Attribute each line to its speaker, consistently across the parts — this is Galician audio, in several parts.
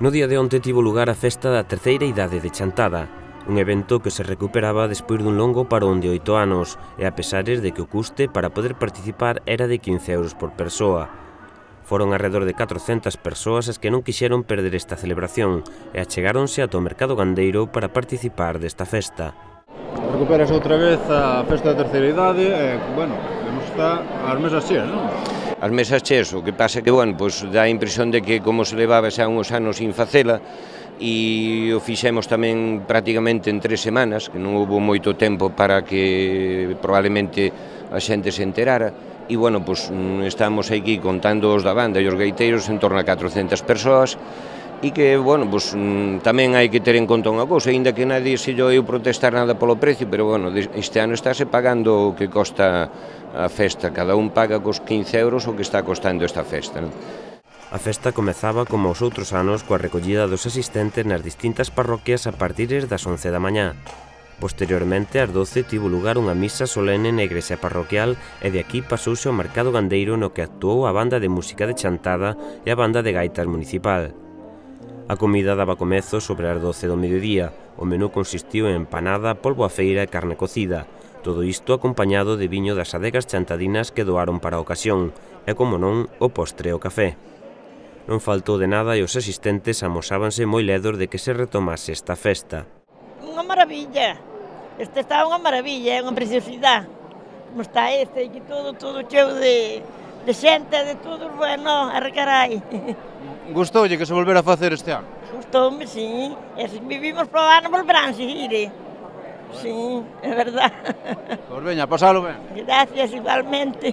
Speaker 1: No día de onte tivo lugar a festa da terceira idade de Chantada, un evento que se recuperaba despois dun longo parón de 8 anos, e a pesares de que o custe para poder participar era de 15 euros por persoa. Foron alrededor de 400 persoas as que non quixeron perder esta celebración e achegáronse ata o mercado gandeiro para participar desta festa.
Speaker 2: Recuperase outra vez a festa da terceira idade e, bueno, temos está as mesas cheas, non?
Speaker 3: As mesas cheas, o que pasa que, bueno, pois dá a impresión de que como se levaba xa uns anos sin facela e o fixemos tamén prácticamente en 3 semanas, que non houve moito tempo para que probablemente a xente se enterara e, bueno, pois estamos aquí contando os da banda e os gaiteiros en torno a 400 persoas e que, bueno, pois tamén hai que ter en conta unha cousa, aínda que nadie se lle oiu protestar nada polo precio, pero, bueno, este ano estáse pagando o que costa a festa, cada un paga cos 15 euros o que está costando esta festa, non?
Speaker 1: A festa comezaba como os outros anos coa recollida dos asistentes nas distintas parroquias a partir das 11 da mañá. Posteriormente, ás 12, tivo lugar unha misa solene na igrexa parroquial e de aquí pasouse ao mercado gandeiro no que actuou a banda de música de Chantada e a banda de gaitas municipal. A comida daba comezo sobre as 12 do mediodía. O menú consistiu en empanada, polvo a feira e carne cocida. Todo isto acompañado de viño das adegas chantadinas que doaron para a ocasión e, como non, o postre e o café. Non faltou de nada e os asistentes amosábanse moi ledos de que se retomase esta festa.
Speaker 4: Unha maravilla, este está unha maravilla, é unha preciosidade. Como está este, aquí todo cheo de xente, de todo, bueno, arrecarai.
Speaker 2: Gustoulle que se volvera a facer este ano?
Speaker 4: Gustoume, sí, e se vivimos para o ano volverán seguir, Sí, é verdad.
Speaker 2: Pois veña, pasalo ben.
Speaker 4: Gracias, igualmente.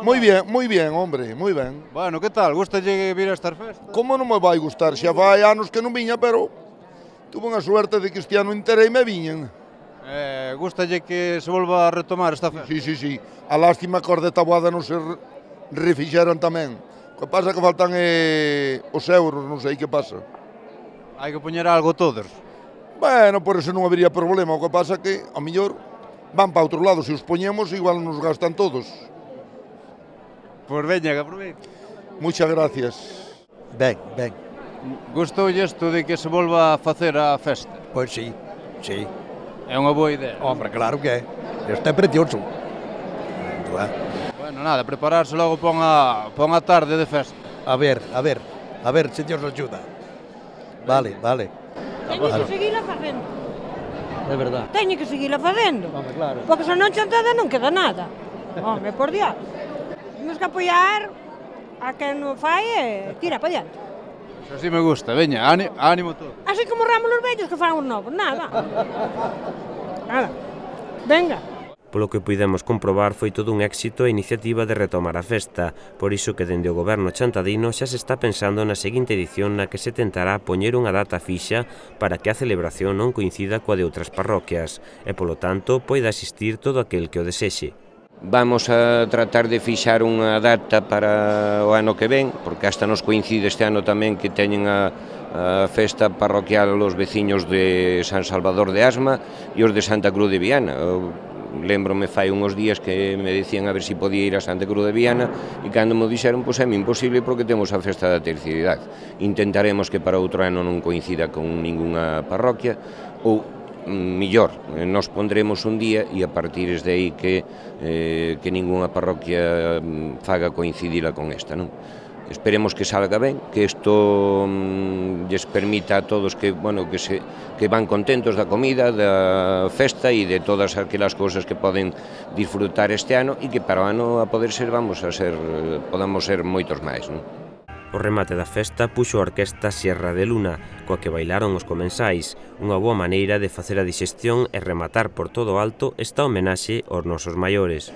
Speaker 5: Moi bien, hombre, moi ben.
Speaker 2: Bueno, que tal? Gustalle vir a estas festas?
Speaker 5: Como non me vai gustar? Xa vai anos que non viña, pero tuve unha suerte de que este ano entereime e viñen.
Speaker 2: Gustalle que se volva a retomar esta festa?
Speaker 5: Sí. A lástima que os de Taboada non se refixeran tamén. O que pasa que faltan os euros, non sei que pasa.
Speaker 2: Hai que poñer algo todos.
Speaker 5: Bueno, por eso non habería problema. O que pasa que, ao mellor, van para outro lado. Se os poñemos, igual nos gastan todos.
Speaker 2: Pois veña, que aproveite.
Speaker 5: Muchas gracias.
Speaker 6: Ben.
Speaker 2: Gustoulle isto de que se volva a facer a festa?
Speaker 6: Pois sí.
Speaker 2: É unha boa idea.
Speaker 6: Hombre, claro que é. Isto é precioso.
Speaker 2: Bueno, nada, prepararse logo para unha tarde de festa.
Speaker 6: A ver se Dios axuda. Vale.
Speaker 7: Teño que seguila facendo.
Speaker 6: É verdad.
Speaker 7: Teño que seguila facendo.
Speaker 6: Home, claro.
Speaker 7: Porque se non Chantada non queda nada. Home, por Dios. Temos que apoiar a quen non fai e tira para diante.
Speaker 2: Eso sí me gusta, veña, ánimo todo.
Speaker 7: Así como ramos os vellos que fan os novos, nada. Venga.
Speaker 1: Polo que puidemos comprobar, foi todo un éxito a iniciativa de retomar a festa, por iso que dende o goberno chantadino xa se está pensando na seguinte edición na que se tentará poñer unha data fixa para que a celebración non coincida coa de outras parroquias e, polo tanto, poida asistir todo aquel que o desexe.
Speaker 3: Vamos a tratar de fixar unha data para o ano que ven, porque hasta nos coincide este ano tamén que teñen a festa parroquial os veciños de San Salvador de Asma e os de Santa Cruz de Viana. Lembrome fai uns días que me dicían a ver se podía ir a Santa Cruz de Viana e cando me dixeron, pois é imposible porque temos a festa da terceira idade. Intentaremos que para outro ano non coincida con ningunha parroquia ou millor, nos pondremos un día e a partir de aí que ningunha parroquia faga coincidila con esta, non? Esperemos que salga ben, que isto lles permita a todos que, bueno, que van contentos da comida, da festa e de todas aquelas cousas que poden disfrutar este ano e que para o ano a poder ser, podamos ser moitos máis, non?
Speaker 1: O remate da festa puxo a orquesta Sierra de Luna, coa que bailaron os comensais, unha boa maneira de facer a dixestión e rematar por todo alto esta homenaxe aos nosos maiores.